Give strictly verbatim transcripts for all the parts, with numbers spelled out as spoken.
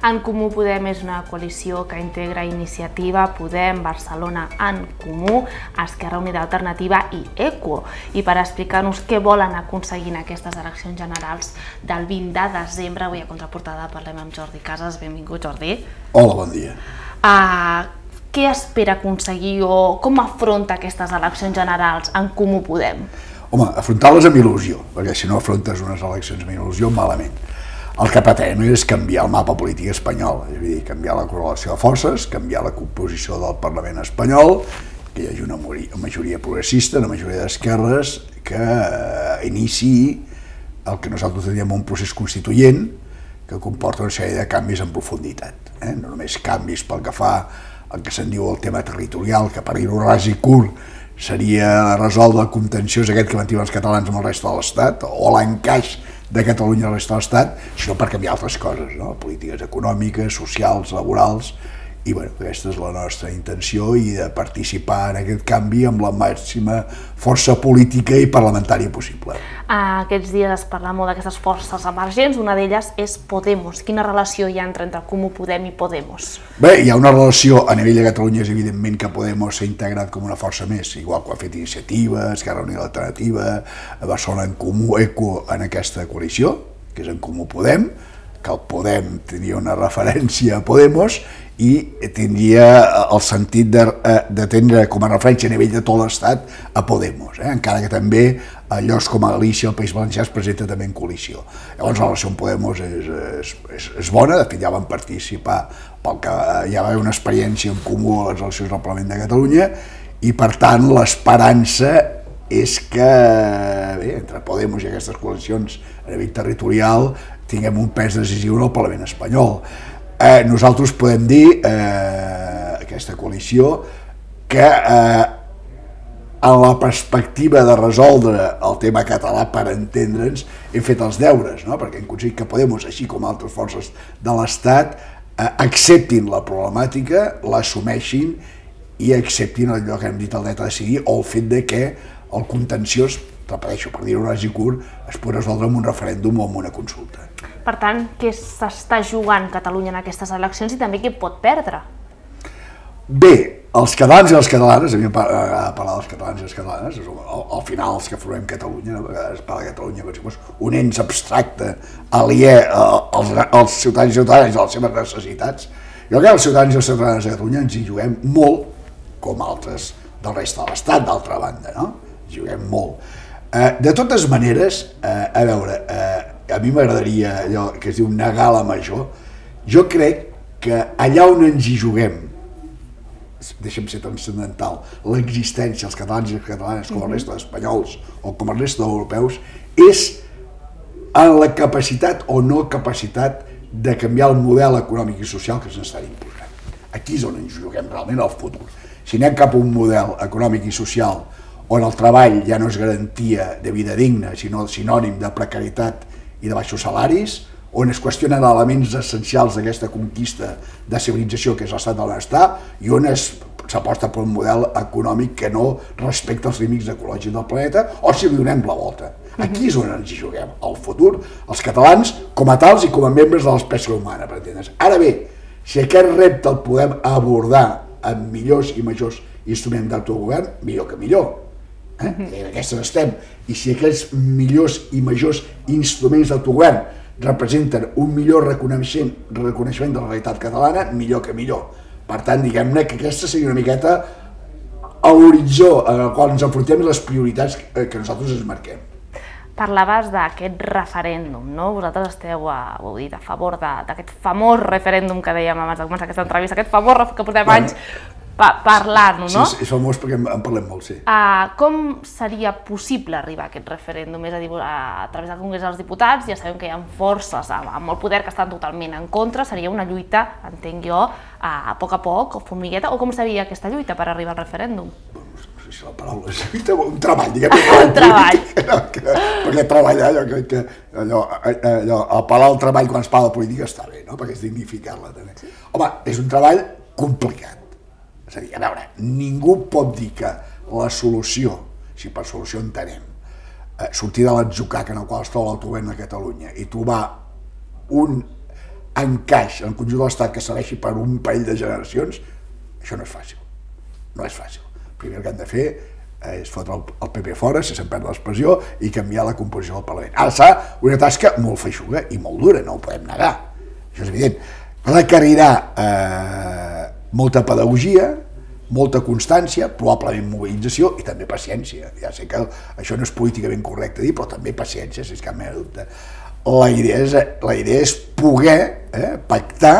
En Comú Podem és una coalició que integra Iniciativa, Podem, Barcelona en Comú, Esquerra Unida Alternativa i ECO. I per explicar-nos què volen aconseguir en aquestes eleccions generals del vint de desembre, avui a Contraportada parlem amb Jordi Casas. Benvingut, Jordi. Hola, bon dia. Què espera aconseguir o com afronta aquestes eleccions generals en Comú Podem? Home, afrontar-les amb il·lusió, perquè si no afrontes unes eleccions amb il·lusió, malament. El que pretenem és canviar el mapa polític espanyol, és a dir, canviar la correlació de forces, canviar la composició del Parlament espanyol, que hi hagi una majoria progressista, una majoria d'esquerres, que iniciï el que nosaltres diem un procés constituent que comporta una sèrie de canvis en profunditat. No només canvis pel que fa al que se'n diu el tema territorial, que per dir-ho ras i curt seria resoldre el contenciós aquest que mantiuen els catalans amb el resta de l'Estat, o l'encaix de Catalunya a la resta de l'Estat, sinó per canviar altres coses, polítiques econòmiques, socials, laborals, i aquesta és la nostra intenció i de participar en aquest canvi amb la màxima força política i parlamentària possible. Aquests dies es parla molt d'aquestes forces emergents, una d'elles és Podemos. Quina relació hi ha entre Comú Podem i Podemos? Bé, hi ha una relació a nivell de Catalunya, és evidentment que Podemos s'ha integrat com una força més, igual que ho ha fet Iniciativa, Esquerra Unida Alternativa, Barcelona en Comú, ECO en aquesta coalició, que és en Comú Podem, que el Podem tenia una referència a Podemos i tindria el sentit de tindre com a referència a nivell de tot l'Estat a Podemos, encara que també a llocs com a Galícia, el País Valencià, es presenta també en coalició. Llavors la relació amb Podemos és bona, de fet ja van participar, ja va haver una experiència en comú a les eleccions del Parlament de Catalunya i per tant l'esperança és que entre Podemos i aquestes coalicions a nivell territorial tinguem un pes decisiu en el Parlament espanyol. Nosaltres podem dir, aquesta coalició, que en la perspectiva de resoldre el tema català, per entendre'ns, hem fet els deures, perquè hem aconseguit que Podemos, així com altres forces de l'Estat, acceptin la problemàtica, l'assumeixin i acceptin allò que hem dit el dret a decidir o el fet que el contenciós, repeteixo, per dir-ho ras i curt, es pot resoldre amb un referèndum o amb una consulta. Per tant, què s'està jugant Catalunya en aquestes eleccions i també què pot perdre? Bé, els catalans i les catalanes, a mi m'agrada parlar dels catalans i les catalanes, al final els que formem Catalunya, a vegades parla de Catalunya com si fos un ens abstracte, aliè als ciutadans i ciutadanes i a les seves necessitats. Jo crec que els ciutadans i les ciutadanes de Catalunya ens hi juguem molt, com altres del resta de l'Estat, d'altra banda, no? Ens hi juguem molt. De totes maneres, a veure, a mi m'agradaria allò que es diu negar la major. Jo crec que allà on ens hi juguem, deixa'm ser transcendental, l'existència dels catalans i les catalanes com a resta d'espanyols o com a resta d'europeus, és en la capacitat o no capacitat de canviar el model econòmic i social que s'està imposant. Aquí és on ens juguem realment el futur. Si anem cap a un model econòmic i social on el treball ja no és garantia de vida digna, sinó sinònim de precarietat i de baixos salaris, on es qüestionen elements essencials d'aquesta conquista de civilització que és l'estat del benestar i on s'aposta per un model econòmic que no respecta els límits ecològics del planeta o si li donem la volta. Aquí és on ens hi juguem, el futur, els catalans com a tals i com a membres de l'espècie humana, per entendre's. Ara bé, si aquest repte el podem abordar amb millors i majors instruments d'autogovern, millor que millor. En aquestes estem, i si aquests millors i majors instruments d'autogovern representen un millor reconeixement de la realitat catalana, millor que millor. Per tant, diguem-ne que aquesta seria una miqueta a l'horitzó en el qual ens enfrontem les prioritats que nosaltres ens marquem. Parlaves d'aquest referèndum, no? Vosaltres esteu, ho heu dit, a favor d'aquest famós referèndum que dèiem abans de començar aquesta entrevista, aquest famós que portem anys parlant-ho, no? Sí, és famós perquè en parlem molt, sí. Com seria possible arribar a aquest referèndum? És a dir, a través del Congrés dels Diputats, ja sabem que hi ha forces amb el poder que estan totalment en contra, seria una lluita, entenc jo, a poc a poc, o formigueta, o com seria aquesta lluita per arribar al referèndum? No sé si la paraula és lluita, un treball, diguem-ne. Un treball. Perquè treballar, jo crec que apel·lar al treball quan es parla de política està bé, perquè és dignificar-la també. Home, és un treball complicat. És a dir, a veure, ningú pot dir que la solució, si per solució entenem, sortir de l'atzucac en el qual es troba l'autogovern de Catalunya i trobar un encaix en el conjunt de l'Estat que serveixi per un parell de generacions, això no és fàcil. No és fàcil. Primer que han de fer és fotre el P P fora, si se'n perd l'expressió, i canviar la composició del Parlament. Ara serà una tasca molt feixuga i molt dura, no ho podem negar. Això és evident. Requerirà eh, molta pedagogia, molta constància, probablement mobilització i també paciència. Ja sé que això no és políticament correcte dir, però també paciència, si és cap mena de dubte. La idea és, la idea és poder eh, pactar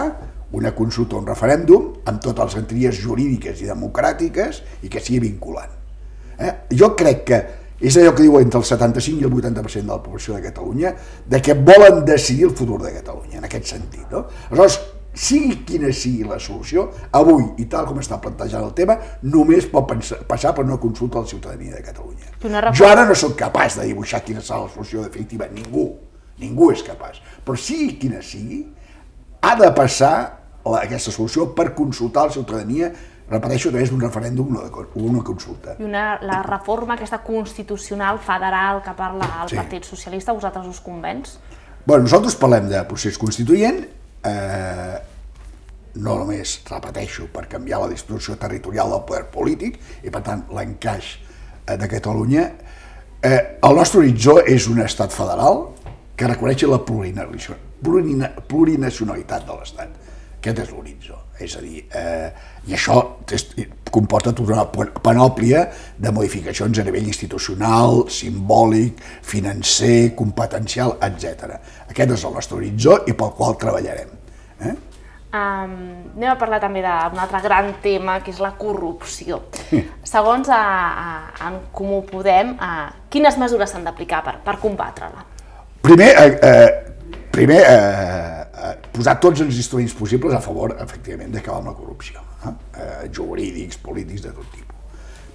una consulta o un referèndum amb totes les garanties jurídiques i democràtiques i que sigui vinculant. Eh? Jo crec que és allò que diu entre el setanta-cinc i el vuitanta per cent de la població de Catalunya, de que volen decidir el futur de Catalunya, en aquest sentit. No? Aleshores, sigui quina sigui la solució, avui, i tal com està plantejant el tema, només pot pensar, passar per una consulta a la ciutadania de Catalunya. Jo ara no soc capaç de dibuixar quina serà la solució definitiva, ningú, ningú és capaç. Però sigui quina sigui, ha de passar la, aquesta solució per consultar la ciutadania, repeteixo, a través d'un referèndum o una consulta. I una, la reforma aquesta constitucional federal que parla el Sí. Partit Socialista, vosaltres us convenç? Bueno, nosaltres parlem de procés constituent, eh, no només, repeteixo, per canviar la distribució territorial del poder polític i, per tant, l'encaix eh, de Catalunya. Eh, el nostre horitzó és un estat federal que reconeix la plurinacionalitat de l'estat. Aquest és l'horitzó. És a dir, eh, i això comporta tota una panòplia de modificacions a nivell institucional, simbòlic, financer, competencial, etcètera. Aquest és el nostre horitzó i pel qual treballarem. Eh? Um, anem a parlar també d'un altre gran tema, que és la corrupció. Segons a, a, En Comú Podem, a, quines mesures s'han d'aplicar per, per combatre-la? Primer, eh, eh, primer eh, eh, posar tots els instruments possibles a favor, efectivament, d'acabar amb la corrupció, eh? Eh, jurídics, polítics, de tot tipus.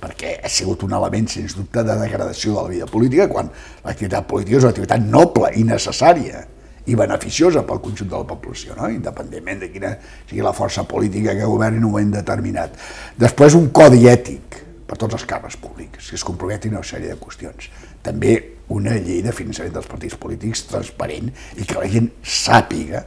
Perquè ha sigut un element, sens dubte, de degradació de la vida política, quan l'activitat política és una activitat noble i necessària i beneficiosa pel conjunt de la població, no? Independentment de quina sigui la força política que governi en un moment determinat. Després, un codi ètic per tots els càrrecs públics, que es comprometin a una sèrie de qüestions. També una llei de finançament dels partits polítics transparent i que la gent sàpiga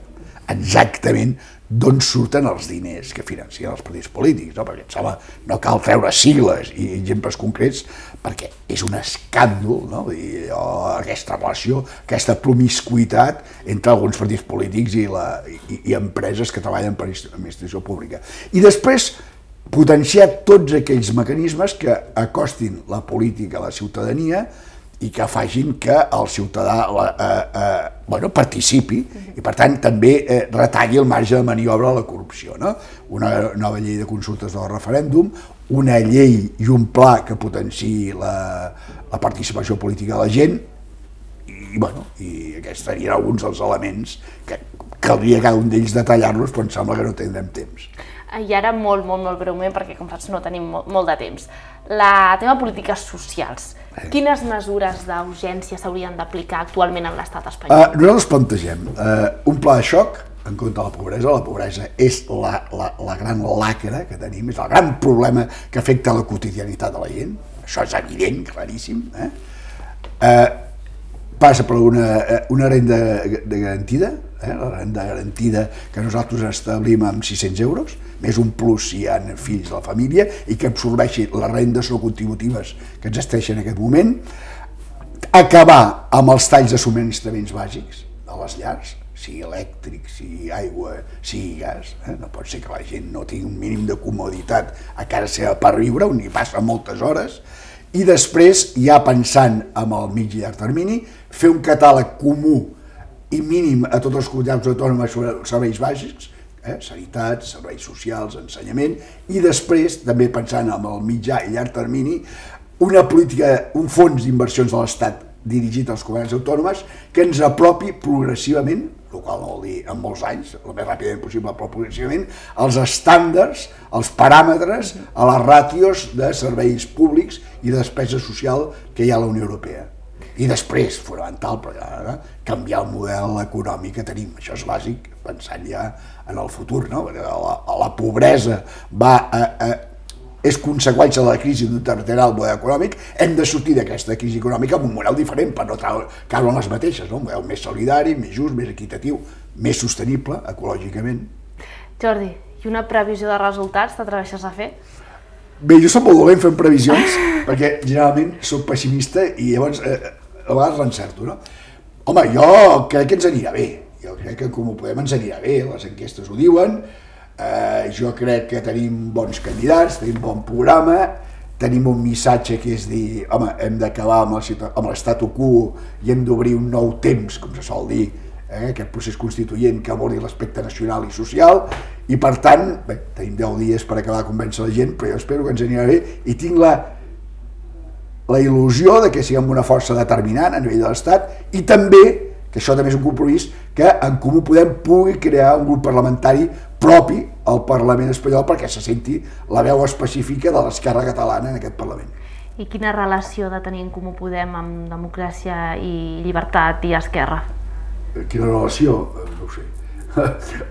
exactament d'on surten els diners que financien els partits polítics, no? Perquè em sembla no cal treure sigles i exemples concrets perquè és un escàndol, no? I, oh, aquesta relació, aquesta promiscuitat entre alguns partits polítics i, la, i, i empreses que treballen per administració pública. I després potenciar tots aquells mecanismes que acostin la política a la ciutadania i que facin que el ciutadà la, eh, eh, bueno, participi i, per tant, també eh, retalli el marge de maniobra a la corrupció. No? Una nova llei de consultes del referèndum, una llei i un pla que potenciï la, la participació política de la gent i, bueno, i aquests serien alguns dels elements que caldria cada un d'ells detallar-los, però em sembla que no tindrem temps. I ara molt, molt, molt breument, perquè com saps no tenim molt, molt de temps. La tema polítiques socials. Quines mesures d'urgència s'haurien d'aplicar actualment en l'estat espanyol? Uh, nosaltres plantegem uh, un pla de xoc en contra de la pobresa. La pobresa és la, la, la gran lacra que tenim, és el gran problema que afecta la quotidianitat de la gent. Això és evident, claríssim. Eh? Uh, passa per una, una renda de garantida, eh? La renda garantida que nosaltres establim amb sis-cents euros, més un plus si hi ha fills de la família, i que absorbeixi les rendes no contributives que existeixen en aquest moment, acabar amb els talls de subministraments bàsics a les llars, sigui elèctric, sigui aigua, sigui gas. Eh? No pot ser que la gent no tingui un mínim de comoditat a casa seva per viure, on hi passa moltes hores, i després, ja pensant en el mig i llarg termini, fer un catàleg comú i mínim a totes les comunitats autònomes sobre serveis bàsics, eh? Sanitat, serveis socials, ensenyament, i després, també pensant en el mitjà i llarg termini, una política, un fons d'inversions de l'Estat dirigit als comunitats autònomes que ens apropi progressivament, el qual no vol dir en molts anys, el més ràpidament possible, però progressivament, els estàndards, els paràmetres, a les ràtios de serveis públics i de despesa social que hi ha a la Unió Europea. I després, fonamental, però ara, canviar el model econòmic que tenim. Això és bàsic, pensant ja en el futur, no? La, la pobresa va a, a, és conseqüència de la crisi territorial del model econòmic. Hem de sortir d'aquesta crisi econòmica amb un model diferent per no caure en les mateixes, no? Un model més solidari, més just, més equitatiu, més sostenible ecològicament. Jordi, i una previsió de resultats t'atreveixes a fer? Bé, jo soc molt dolent fent previsions, perquè generalment soc pessimista i llavors eh, a vegades l'encerto, no? Home, jo crec que ens anirà bé, jo crec que com ho podem ens anirà bé, les enquestes ho diuen, eh, jo crec que tenim bons candidats, tenim bon programa, tenim un missatge que és dir, home, hem d'acabar amb l'statu quo i hem d'obrir un nou temps, com se sol dir, eh, aquest procés constituent que abordi l'aspecte nacional i social, i per tant, bé, tenim deu dies per acabar de convèncer la gent, però jo espero que ens anirà bé i tinc la, la il·lusió de que siguem una força determinant a nivell de l'Estat i també, que això també és un compromís, que en Comú Podem pugui crear un grup parlamentari propi al Parlament espanyol perquè se senti la veu específica de l'esquerra catalana en aquest Parlament. I quina relació de tenir en Comú Podem amb democràcia i llibertat i esquerra? Quina relació? No ho sé.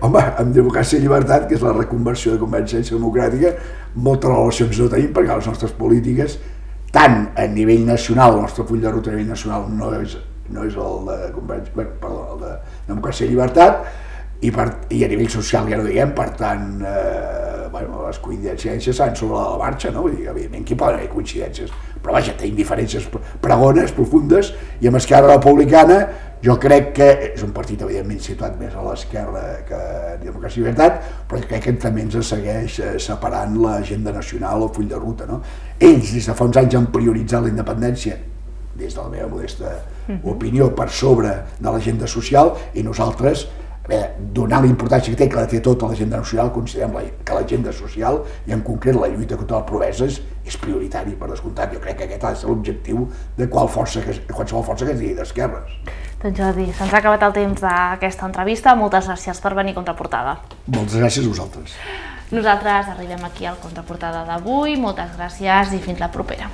Home, amb democràcia i llibertat, que és la reconversió de Convergència Democràtica, moltes relacions no tenim perquè les nostres polítiques, tant a nivell nacional, el nostre full de ruta a nivell nacional no és, no és el de Convergència, bueno, perdó, el de democràcia i llibertat, i, per, i a nivell social ja no diguem, per tant, eh, bueno, les coincidències s'han sobre la marxa, no? Vull dir, evidentment, aquí poden haver coincidències, però vaja, tenim diferències pregones, profundes, i amb Esquerra Republicana jo crec que és un partit evidentment situat més a l'esquerra que a Democràcia i Llibertat, però crec que també ens segueix separant l'agenda nacional o el full de ruta, no? Ells des de fa uns anys han prioritzat la independència, des de la meva modesta opinió, per sobre de l'agenda social, i nosaltres, bé, donant la importància que té, que la té tota l'agenda nacional, considerem que l'agenda social, i en concret la lluita contra les pobreses, és prioritari per descomptat. Jo crec que aquest ha de ser l'objectiu de qualsevol força que es digui d'esquerres. Doncs Jordi, se'ns ha acabat el temps d'aquesta entrevista. Moltes gràcies per venir a Contraportada. Moltes gràcies a vosaltres. Nosaltres arribem aquí al Contraportada d'avui. Moltes gràcies i fins la propera.